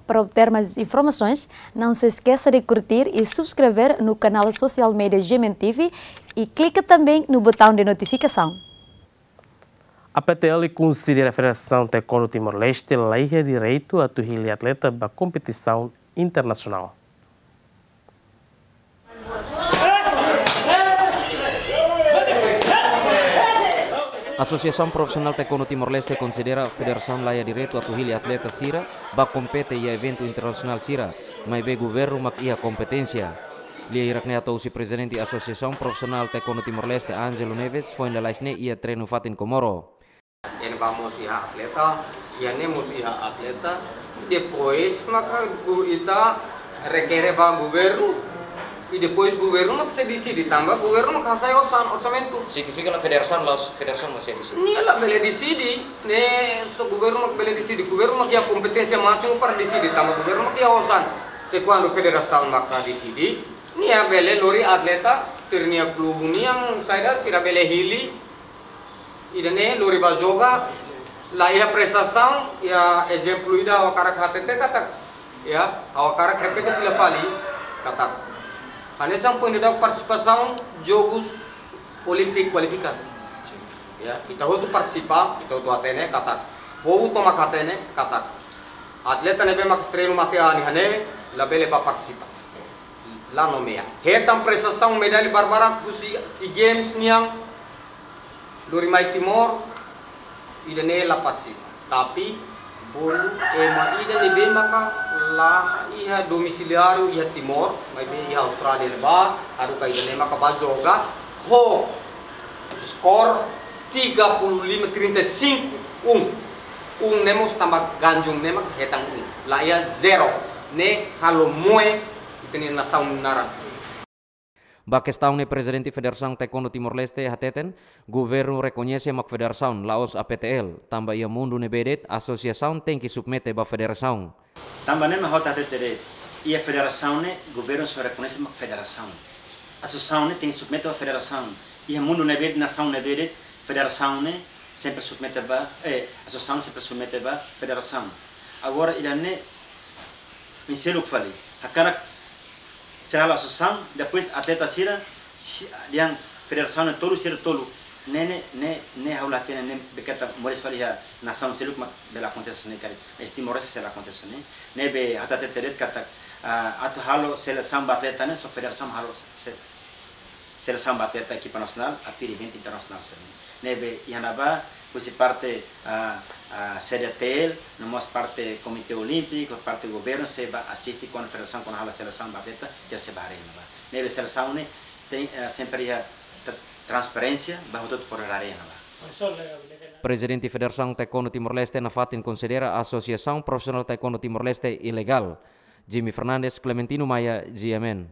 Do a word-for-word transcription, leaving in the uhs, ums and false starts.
Para obter mais informações, não se esqueça de curtir e subscrever no canal social media G M N T V e clica também no botão de notificação. A P T L konsidera Federasaun Taekwondo Timor-Leste la iha direitu atu hili atleta ba kompetisaun internasionál. Asosiasaun Profisionál Taekwondo Timor-Leste konsidera federasaun la iha direitu atu hili atleta sira ba kompete iha eventu internasionál sira, maibé governu mak iha kompeténsia. Lia hirak-ne'e hato'o husi Prezidente Asosiasaun Profisionál Taekwondo Timor-Leste, Ângelo Neves, foin lalais ne'e iha treinu fatin Comoro. Iha ne'ebá mós iha atleta, iha ne'e mós iha atleta. Depois maka ita rekere ba governu. I depois governu mak sei deside, tanba governu mak hasai osan, orsamentu. Signifika la federasaun, la federasaun mak sei deside? Nia labele deside, ne'e só governu mak bele deside. Governu mak iha kompeténsia másimu para deside, tanba governu mak iha osan. Se kuandu federasaun mak deside, nia bele lori atleta sira-nia klube nian, saida sira bele hili. Ida-ne'e lori ba joga, la iha prestasaun, iha ezemplu ida ha'u hakarak hatete katak, ya, ha'u hakarak repete fila fali katak, hanesan foin daudauk partisipasaun Jogus Olímpiku kualifikasi. Ya, ita hotu partisipa, ita hotu hatene katak, povu tomak hatene katak atleta ne'ebé mak treinu matenek iha ne'e, labele bá partisipa. La nomeia. Hetan prestasaun medalla barbarak husi SEA Games nian, lori mai Timor, ida-ne'e la partisipa. Tapi bolu ema ida ne'ebé maka la iha domisiliáriu iha Timor, maibé iha Austrália ne'ebá, haruka ida-ne'e maka bá joga ho skor tiga puluh lima, trinta e cinco, um. Um ne'e mós tanba ganjung ne'e mak hetan um. La iha zero. Ne'e halo moe ita-nia nasaun naran. Ba kestaun ne'e Prezidente Federasaun Taekwondo Timor-Leste hateten, governu rekoñese mak federasaun, la'ós A P T L, tanba iha mundu ne'ebé de'it asosiasaun tenke submete ba federasaun. Tanba ne'e mak ha'u hatete de'it, iha federasaun ne'e governu só rekoñese mak federasaun. Asosiasaun ne'e tenke submete ba federasaun. Iha mundu ne'ebé de'it, nasaun ne'ebé de'it, federasaun ne'e sempre submete ba, eh, asosiasaun sempre submete ba federasaun. Agora ida-ne'e oinsá loos fali. Hakarak sira halo asosiasaun, depois atleta sira, si-, dehan federasaun ne'e tolu, sira tolu. Ne'e, ne'e, ne'e, ne'e ha'u la hatene, ne'e be katak moris fali iha nasaun seluk mak bele akontese ne'e karik. Mas Timor-Leste sei la akontese ne'e. Ne'ebé ha'u hatete de'it katak, ah, atu halo selesaun ba atleta ne'e, só federasaun halo se-, selesaun ba atleta ekipa nasionál, atu hili eventu internasionál sira-ne'e. Ne'ebé iha ne'ebá, husi parte, ah, ah, C D T L, no mós parte Komité Olímpiku, parte governu, sei bá asiste kuandu federasaun, kuandu halo selesaun ba atleta, ita sei bá haree iha ne'ebá. Ne'ebé selesaun ne'e tenke, eh, sempre iha tra-, transparénsia, ba hotu-hotu bele haree iha ne'ebá. Prezidente Federasaun Taekwondo Timor-Leste nafatin konsidera Asosiasaun Profisionál Taekwondo Timor-Leste ilegál. Jimmy Fernandes, Clementino Maia, G M N.